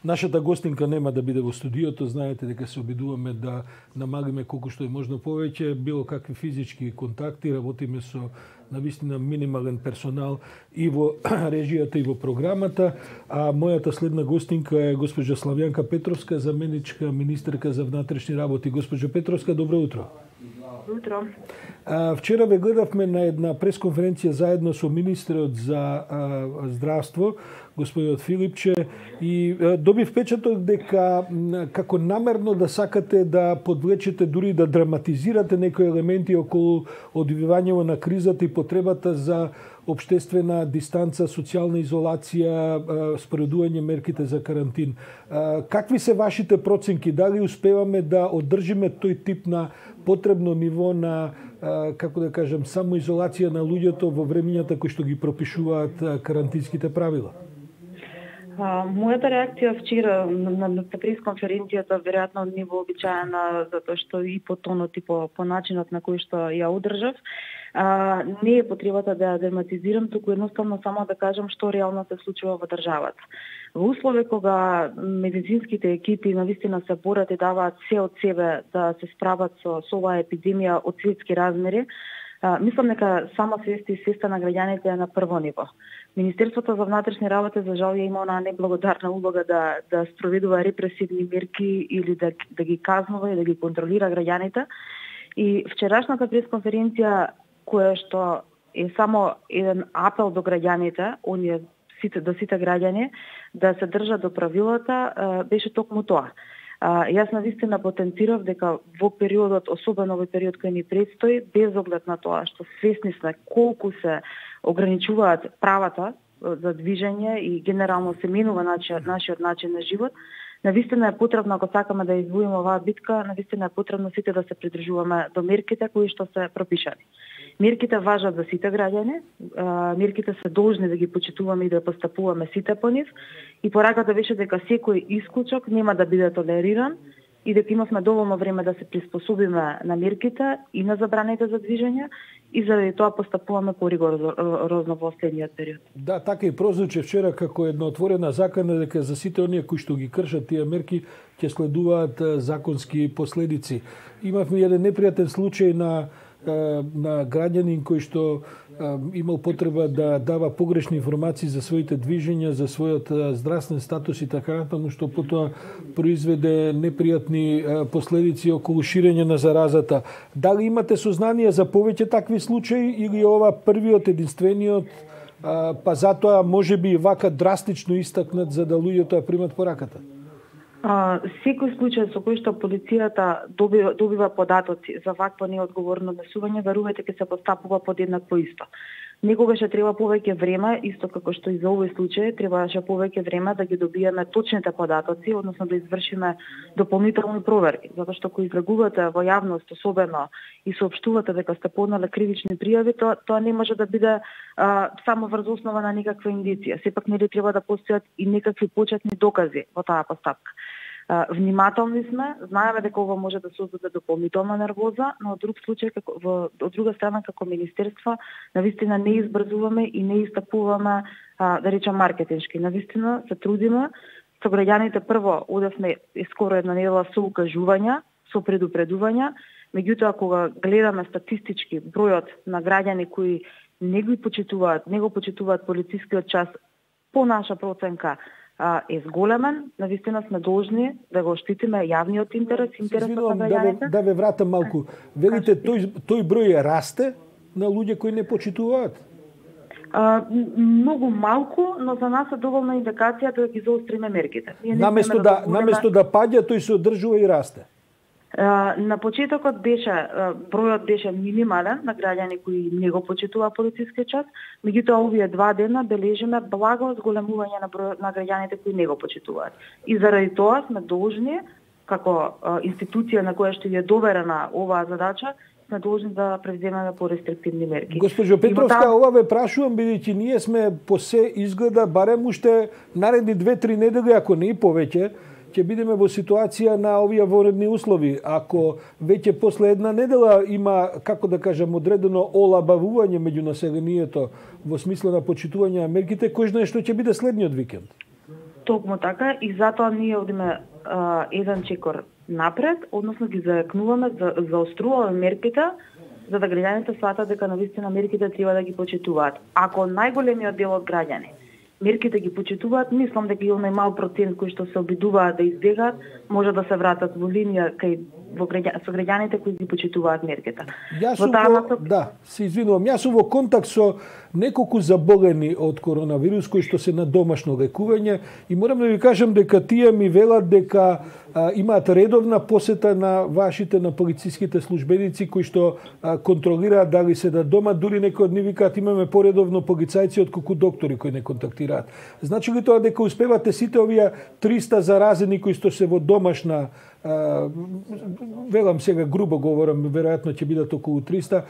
Нашата гостинка нема да биде во студиото, знаете дека се обидуваме да намалиме колку што е можно повеќе било какви физички контакти, работиме со навистина минимален персонал и во режијата и во програмата, а мојата следна гостинка е госпоѓа Славјанка Петровска, заменичка министерка за внатрешни работи. Госпоѓо Петровска, добро утро. Утро. Вчера ве гледавме на една пресконференција заедно со министерот за здравство, господинот Филипче, и добив впечаток дека како намерно да сакате да подвлечете, дури да драматизирате некои елементи околу одвивањето на кризата и потребата за општествена дистанца, социјална изолација, споредување мерките за карантин. Какви се вашите проценки? Дали успеваме да одржиме тој тип на потребно ниво на, како да кажем, самоизолација на луѓето во времењата кои што ги пропишуваат карантинските правила? Мојата реакција вчера на пресконференцијата веројатно не вообичаена, затоа што и по тонот и по начинот на кој што ја одржав, не е потребата да ја драматизирам, туку едноставно само да кажам што реално се случува во државата. Во услови кога медицинските екипи навистина се борат и даваат се од себе да се справат со оваа епидемија од светски размери, мислам дека сама свеста и свеста на граѓаните е на прво ниво. Министерството за внатрешни работи за жал има онаа неблагодарна улога да спроведува репресивни мерки или да ги казнува и да ги контролира граѓаните. И вчерашната пресконференција, која што е само еден апел до граѓаните, до сите граѓани, да се држат до правилата, беше токму тоа. Јас навистина потенцирав дека во периодот, особено во период кој ни предстои, без оглед на тоа што свесни сме колку се ограничуваат правата за движење и генерално се менува нашиот начин на живот, навистина е потребно, ако сакаме да извоиме оваа битка, навистина е потребно сите да се придржуваме до мерките кои што се пропишани. Мерките важат за сите граѓани, мерките се должни да ги почитуваме и да постапуваме сите по нив, и пораката беше дека секој исклучок нема да биде толериран и дека имавме доволно време да се приспособиме на мерките и на забраните за движење, и заради тоа постапуваме поригорозно во следниот период. Да, така и прозвуче вчера како една отворена закана дека за сите оние кои што ги кршат тие мерки ќе следуваат законски последици. Имавме еден непријатен случај на граѓанин кој што имал потреба да дава погрешни информации за своите движења, за својот здравствен статус и така натаму, што потоа произведе непријатни последици околу ширење на заразата. Дали имате сознание за повеќе такви случаи или ова првиот, единствениот, па затоа можеби и вака драстично истакнат за да луѓето ја примат пораката? Секој случај со кој што полицијата добива податоци за вакво неодговорно однесување, верувајте ќе се постапува подеднакво исто. Некогаш треба повеќе време, исто како што и за овој случај, требаше повеќе време да ги добиеме точните податоци, односно да извршиме дополнителни проверки, затоа што кој излегувате во јавност, особено и соопштувате дека сте поднале кривични пријави, тоа не може да биде само врз основа на некаква индиција. Сепак нели треба да постојат и некакви почетни докази во таа постапка. Внимателни сме, знаеме дека ова може да создаде дополнителна нервоза, но од друга страна како министерство навистина не избрзуваме и не истапуваме, да речем, маркетиншки. Навистина се трудиме со граѓаните. Прво одевме скоро една недела со укажувања, со предупредувања, меѓутоа кога гледаме статистички бројот на граѓани кои не го почитуваат полицискиот час, по наша проценка е зголемен, навистина сме должни да го штитиме јавниот интерес, интересот на граѓаните. Да ве вратам малку. Велите тој број расте на луѓе кои не почитуваат? Многу малку, но за нас е доволна индикација да ги заостриме мерките. Наместо да паѓа, тој се одржува и расте. На почетокот бројот беше минимален на граѓани кои не го почитуваа полицискиот час, меѓутоа овие 2 дена бележиме благо зголемување на бројот на граѓаните кои не го почитуваат. И заради тоа сме должни, како институција на која што е доверена оваа задача, сме должни да превземеме порестриктивни мерки. Госпожо Петровска, ова ве прашувам бидејќи ние сме по се изгледа барем уште наредни 2-3 недели, ако не и повеќе, ќе бидеме во ситуација на овие воредни услови. Ако веќе после една недела има, како да кажам, одредено олабавување меѓу населението во смисла на почитување на мерките, кој знае што ќе биде следниот викенд? Токму така, и затоа ние одиме еден чекор напред, односно ги зајакнуваме, заоструваме мерките, за да граѓаните сватат дека навистина мерките треба да ги почитуваат. Ако најголемиот дел од граѓани мерките ги почитуваат, мислам дека и оној мал процент кои што се обидуваат да избегаат, може да се вратат во линија со граѓаните кои ги почитуваат мерките. Да, се извинувам. Јас сум во контакт со неколку заболени од коронавирус кои што се на домашно лекување и морам да ви кажам дека тие ми велат дека имаат редовна посета на вашите, на полициските службеници кои што контролираат дали се да дома, дури некои од нив викаат имаме поредовно полицајци отколку доктори кои не контактираат. Значи ли тоа дека успевате сите овие 300 заразени кои што се во домашна, велам сега грубо говорам, веројатно ќе бидат околу 300,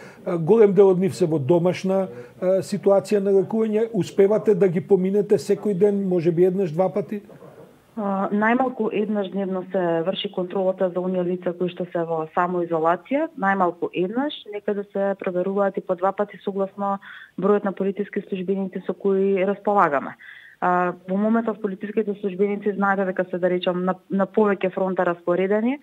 голем дел од нив се во домашна ситуација на лекување, успевате да ги поминете секој ден, можеби еднаш, два пати? Најмалку еднаш дневно се врши контролата за оние лица кои што се во самоизолација, најмалку еднаш, некаде се проверуваат и по два пати согласно бројот на полициски службеници со кои располагаме. Во моментот полициските службеници знаете дека се, да речам, на повеќе фронта распоредени.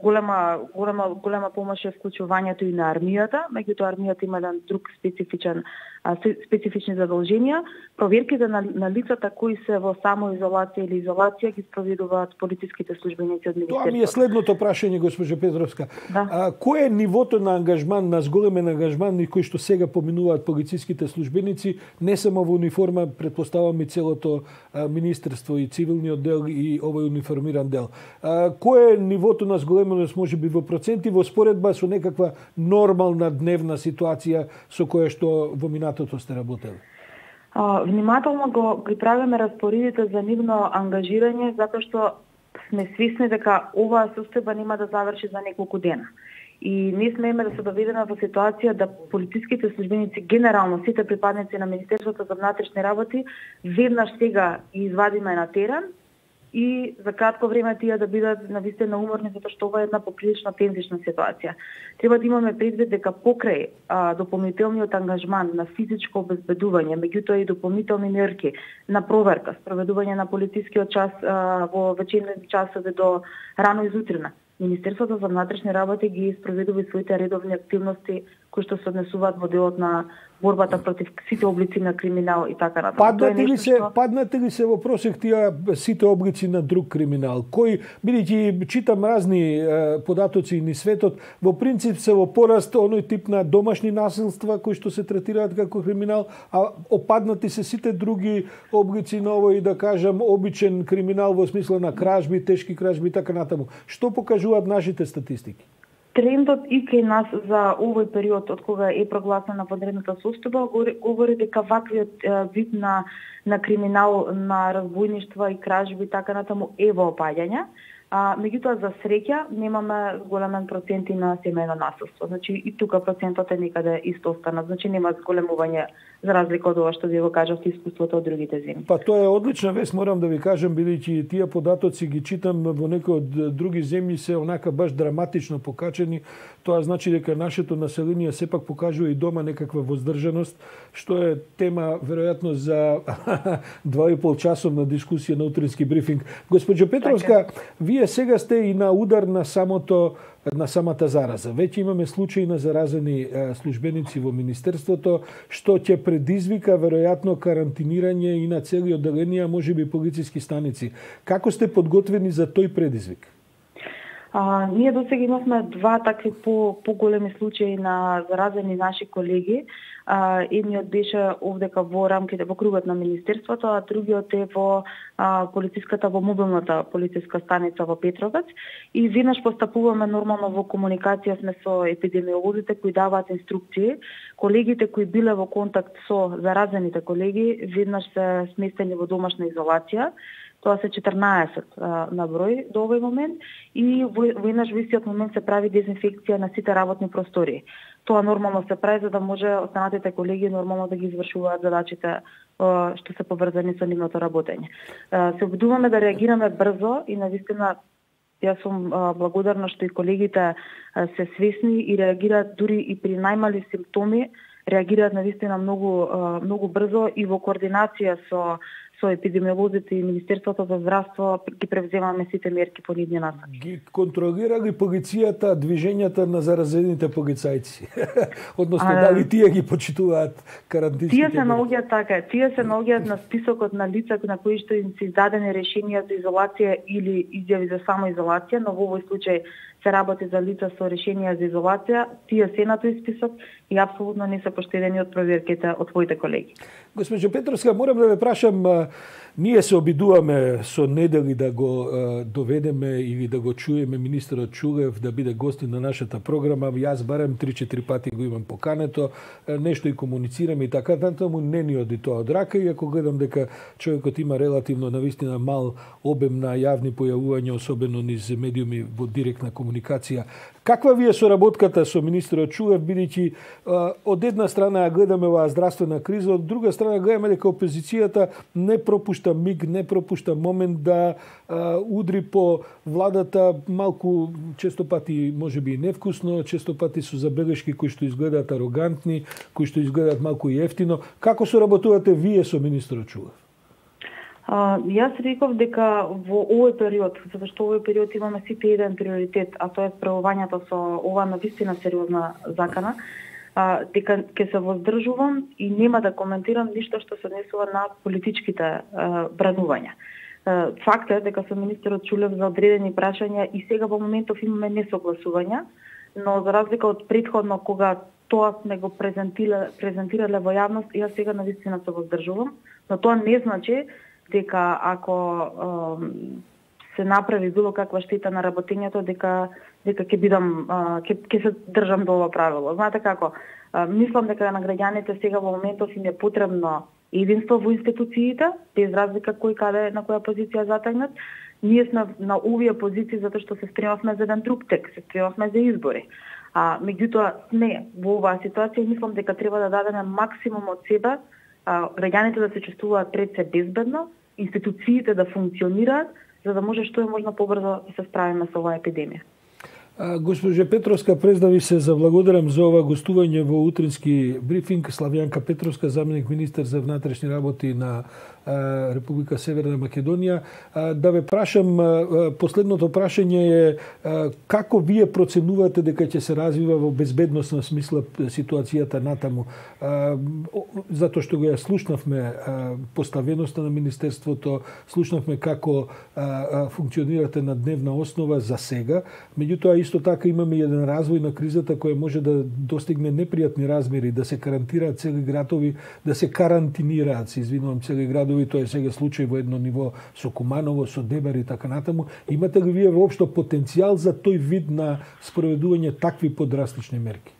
Голема помош е вклучувањето и на армијата, меѓутоа армијата има еден друг специфични задолженија. Проверките на лицата кои се во самоизолација или изолација ги спроведуваат полициските службеници од министерството. Тоа ми е следното прашање, госпожа Петровска. Да. Кој е нивото на ангажман, на зголемен ангажман кој што сега поминуваат полициските службеници, не само во униформа, претпоставам и целото министерство и цивилниот дел и овој униформиран дел. Кој е нивото на зголеменост, можеби во проценти, во споредба со некаква нормална дневна ситуација со која што во минатото сте работели? Внимателно ги правиме распоредите за нивно ангажирање, затоа што сме свесни дека оваа состојба нема да заврши за неколку дена. И не смееме да се доведеме во ситуација да полициските службеници, генерално сите припадници на Министерството за внатрешни работи, веднаш сега ги извадиме на терен и за кратко време тие да бидат навистина уморни, затоа што ова е една поприлично тензична ситуација. Треба да имаме предвид дека покрај дополнителниот ангажман на физичко обезбедување, меѓутоа и дополнителни мерки на проверка, спроведување на полицискиот час во вечерните часови до рано изутрина, Министерството за внатрешни работи ги спроведува своите редовни активности кои што се однесуваат во делот на борбата против сите облици на криминал и така натаму. Паднате ли се во просек тие сите облици на друг криминал? Кои, бидејќи читам разни податоци низ светот, во принцип се во пораст оној тип на домашни насилства кои што се третираат како криминал, а опаднати се сите други облици на овој, да кажам, обичен криминал во смисла на кражби, тешки кражби и така натаму. Што покажуваат нашите статистики? Трендот и кај нас за овој период од кога е прогласена vanредната состојба говори дека ваквиот вид на криминал, на разбойништва и кражби така натаму е во опаѓање. Меѓутоа за среќа немаме големен процент и на семејно насилство. Значи и тука процентот е некаде исто останат. Значи нема зголемување за разлика од ова што ви го кажавте искуството од другите земји. Па тоа е одлична вест, морам да ви кажам, бидејќи тие податоци ги читам во некои од други земји се онака баш драматично покачени. Тоа значи дека нашето население сепак покажува и дома некаква воздржаност, што е тема веројатно за 2,5 часовна дискусија на утрински брифинг. Госпоđо Петровска, вие сега сте и на удар на самата зараза. Веќе имаме случаи на заразени службеници во Министерството, што ќе предизвика веројатно карантинирање и на цели одделенија, можеби полициски станици. Како сте подготвени за тој предизвик? Ние досега имавме два такви поголеми случаи на заразени наши колеги. Едниот беше овдека во рамките во кругот на Министерството, а другиот е во во мобилната полициска станица во Петровец. И веднаш постапуваме нормално во комуникација сме со епидемиолозите кои даваат инструкции. Колегите кои биле во контакт со заразените колеги веднаш се сместени во домашна изолација. Тоа се 14 на број до овој момент и во еднаш во истиот момент се прави дезинфекција на сите работни простори. Тоа нормално се прави за да може останатите колеги нормално да ги извршуваат задачите што се поврзани со нивното работење. Се обидуваме да реагираме брзо и навистина јас сум благодарна што и колегите се свесни и реагираат дури и при најмали симптоми, реагираат навистина многу брзо и во координација со со епидемиолозите и Министерството за здравство ги превземаме сите мерки по нивни насоки. Ги контролира ли полицијата движењата на заразените полицајци? Односно, дали тие ги почитуваат карантинските? Тие се наоѓаат така, тие се наоѓаат на списокот на лица на кои што им се издадени решенија за изолација или изјави за самоизолација, но во овој случај се работи за лица со решенија за изолација, тие се на тој список и апсолутно не се поштедени од проверките од твоите колеги. Госпожо Петровска, морам да ве прашам, ние се обидуваме со недели да го доведеме или да го чуеме министерот Чулев да биде гостин на нашата програма. Јас барем 3-4 пати го имам покането, нешто и комуницираме и така натаму, не ни оди тоа од рака, и ако гледам дека човекот има релативно навистина мал обем на јавни појавувања, особено низ медиуми во директна комуникација. Каква ви е соработката со министерот Чулев, бидејќи од една страна ја гледаме оваа здравствена криза, од друга страна гледаме дека опозицијата не пропушта миг, не пропушта момент да удри по владата малку, често пати можеби и невкусно, често пати со забелешки кои што изгледаат арогантни, кои што изгледаат малку и ефтино. Како соработувате вие со министерот Чулев? Јас реков дека во овој период, затоа што овој период имаме сите еден приоритет, а тоа е справувањето со ова навистина сериозна закана, дека ќе се воздржувам и нема да коментирам ништо што се однесува на политичките бранувања. Факт е дека со министерот Чулев за одредени прашања и сега во моментов имаме несогласувања, но за разлика од претходно кога тоа сме го презентирале во јавност, јас сега навистина се воздржувам, но тоа не значи дека ако се направи било каква штета на работењето, дека ќе бидам ќе се држам до ова правило. Знаете како, мислам дека на граѓаните сега во моментов им е потребно единство во институциите, без разлика кој каде на која позиција затегнат. Ние сме на овие позиции затоа што се спремавме за еден друг текст, се спремавме за избори. Меѓутоа сме во оваа ситуација, мислам дека треба да дадеме максимум од себе, граѓаните да се чувствуваат пред се безбедно, институциите да функционираат, за да може што е можно побрзо да се справиме со оваа епидемија. Госпожа Петровска, през да ви се заблагодарам за ова гостување во утрински брифинг. Славјанка Петровска, заменик министер за внатрешни работи на Република Северна Македонија. Да ве прашам, последното прашање е како вие проценувате дека ќе се развива во безбедносна смисла ситуацијата натаму? Затоа што го ја слушнавме поставеноста на министерството, слушнавме како функционирате на дневна основа за сега, меѓутоа исто така имаме еден развој на кризата која може да достигне непријатни размери, да се карантираат цели градови, да се карантинираат, се извинувам, цели градови. Тоа е сега случај во едно ниво со Куманово, со Дебар и така натаму. Имате ли вие воопшто потенцијал за тој вид на спроведување такви подрастични мерки?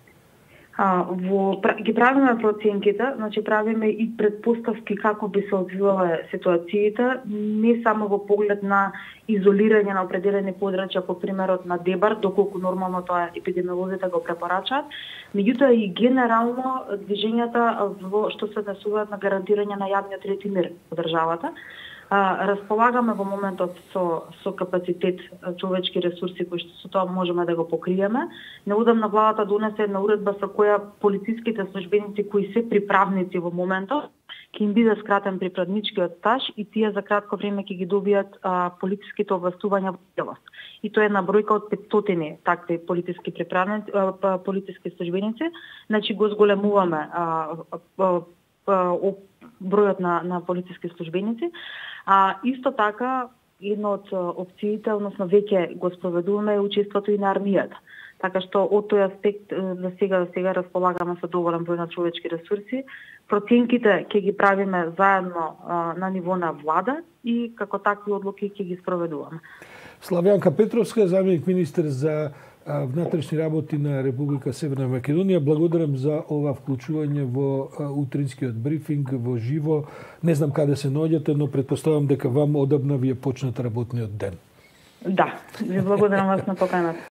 Ги правиме проценките, значи правиме и предпоставки како би се одвивале ситуациите, не само во поглед на изолирање на определени подрачја, по примерот на Дебар, доколку нормално тоа епидемиолозите го препорачаат, меѓутоа и генерално движењата што се однесуваат на гарантирање на јавниот ред и мир во државата. Располагаме во моментот со капацитет човечки ресурси кои што со тоа можеме да го покриеме. Неодамна владата донесе една уредба со која полициските службеници кои се приправници во моментот ќе им биде скратен приправничкиот стаж и тие за кратко време ќе ги добијат полициските овластувања во целост. И тоа е една бројка од 500 такви полициски приправници, полициски службеници. Значи го зголемуваме бројот на полициски службеници. Исто така, една од опциите, односно веќе го спроведуваме, е учеството и на армијата. Така што од тој аспект за сега располагаме со доволен број на човечки ресурси. Проценките ќе ги правиме заедно на ниво на влада и како такви одлуки ќе ги спроведуваме. Славјанка Петровска, заменик министер за внатрешни работи на Република Северна Македонија. Благодарам за ова вклучување во утринскиот брифинг во живо. Не знам каде се наоѓате, но претпоставам дека вам одамна ви е почнат работниот ден. Да, ви благодарам вас на поканата.